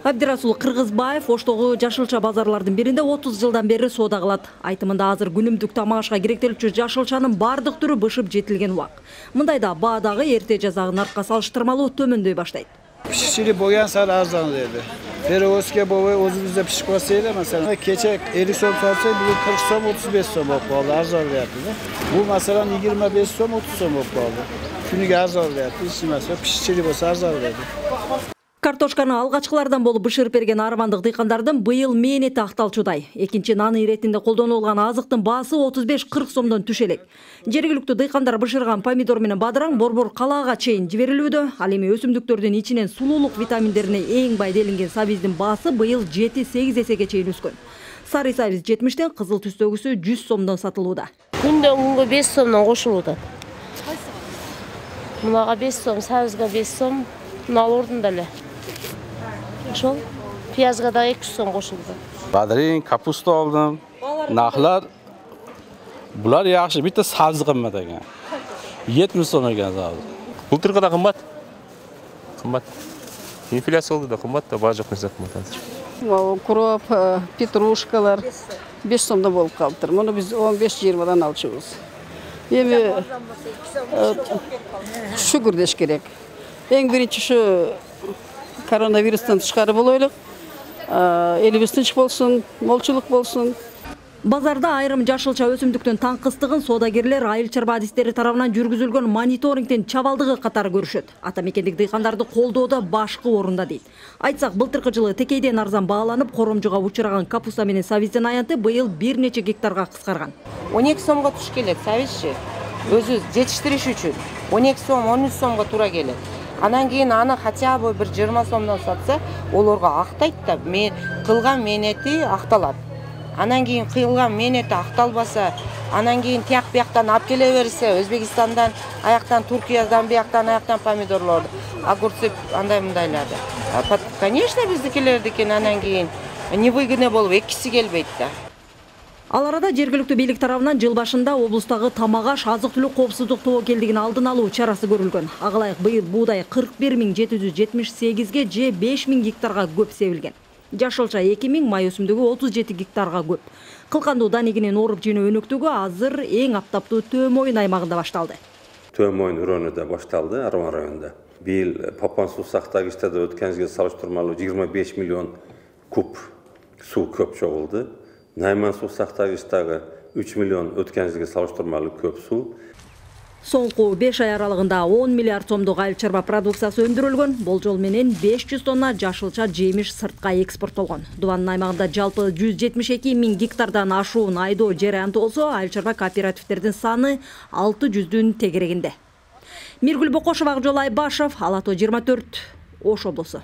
Абдирасул Кыргызбаев Оштогу жашылча базарлардын биринде 30 жылдан бери соода кылат. Айтымында азыр күнүмдүк тамак ашка керектелүүчү жашылчанын бардык түрү бышып жетилген убак. Мындайда баа дагы эрте жазагы наркка салыштырмалуу төмөндөй баштайт. Пишичили болгон сары арзан деди. Перевозка болбой өзүбүздө пишип койсо эле, маселен, кече 50 сом сатса, бүгүн 40 сом, 35 сом болуп калды, арзан берди да. Бул маселен 25 сом, 30 сом болуп калды. Күнүгө арзан берди, ичмесе пишичили болсо арзан берди. Картошканы алгачкылардан болуп бышырып берген армандык дыйкандардын быйыл мээнети акталчудай. Экинчи нан иретинде колдонулган азыктын баасы 35-40 сомдон түшө элек. Жергиликтүү дыйкандар бышырган помидор менен бадыраң борбор калаага чейин жиберилүүдө. Ал эми өсүмдүктөрдүн ичинен сулуулук витаминдерине эң бай делинген сабиздин баасы быйыл 7-8 эсеге чейин өскөн. Сары сабиз 70тен, кызыл түстөгүсү 100 сомдон сатылууда. Күндөн күнгө 5 сомдон кошулууда. Мунага 5 сом, сабизге 5 сом, мына ордунда эле. Ошол пиязга да 200 сом кошулду. Бадырин, капуста алдым. Нахлар булар жакшы, битте сабыз кымбат экен. 70 сом экен сабыз. Былтыркы да кымбат. Кымбат. Инфляция болду да кымбат да, баа жок нерсе кымбат азыр. Укроп, петрушкалар 5 сомдон болуп калыптыр. Муну биз 15-20дан алчубуз. Эми шүгүр деш керек. Эң биринчи ушу коронавирустан тышкары болойлук, элибиз тынч болсун, молчулук болсун. Базарда айрым жашылча өсүмдүктүн таңкыстыгын соодагерлер айыл чарба адистери тарабынан жүргүзүлгөн мониторингдин чабалдыгы катары көрүшөт. Ата мекендик дыйкандарды колдоодо башкы орунда дейт. Айтсак, былтыркы жылы текейден арзан бааланып, коромжуга учураган капуста менен сабиздин аянты быйыл бир нече гектарга кыскарган. 12 сомго туш келет сабизчи. Өзү жетиштириш үчүн 12 сом, 13 сомго туура келет. Анан кийин аны хотя бы бир 20 сомдон сатса, олорго актайт да, кылган мээнети акталат. Анан кийин кылган мээнети акталбаса, анан кийин тияк бияктан алып келе берсе, Өзбекистандан, аяктан Туркиядан, аяктан помидорлорду, огурцы андай мындайларды. Конечно, биздикилердикин анан кийин невыгодно болуп экиси келбейт да. Ал арада жергиликтүү бийлик тарабынан жыл башында облустагы тамак аш азык-түлүк коопсуздук тобокелдигин алдын алуу чарасы көрүлгөн. Ага ылайык быйыл буудай 41.778ге же 5.000 гектарга көп себилген. Жашылча 2.000, май өсүмдүгү 37 гектарга көп. Кылкандуу данегинин оруп жинөө өнөктүгү азыр эң аптаптуу Төмөйүн аймагында башталды. Төмөйүн районунда башталды, Арман районунда. Быйыл Папан суу сактагычтарда өткөн жылга салыштырмалуу 25 миллион куб суу көп чогулду. Найман суу сактагычтагы 3 миллион өткөн жылга салыштырмалуу көп суу. Соңку 5 ай аралыгында 10 миллиард сомдук айыл чарба продукциясы өндүрүлгөн. Болжол менен 500 тонна жашылча жемиш сыртка экспорттолгон. Дубанын аймагында жалпы 172.000 гектардан ашуун айдоо жарыянты болсо, айыл чарба кооперативтердин саны 600-дүн тегерегинде. Миргүл Бокошева, Акжол Айбашев, Ала тоо 24, Ош облусу.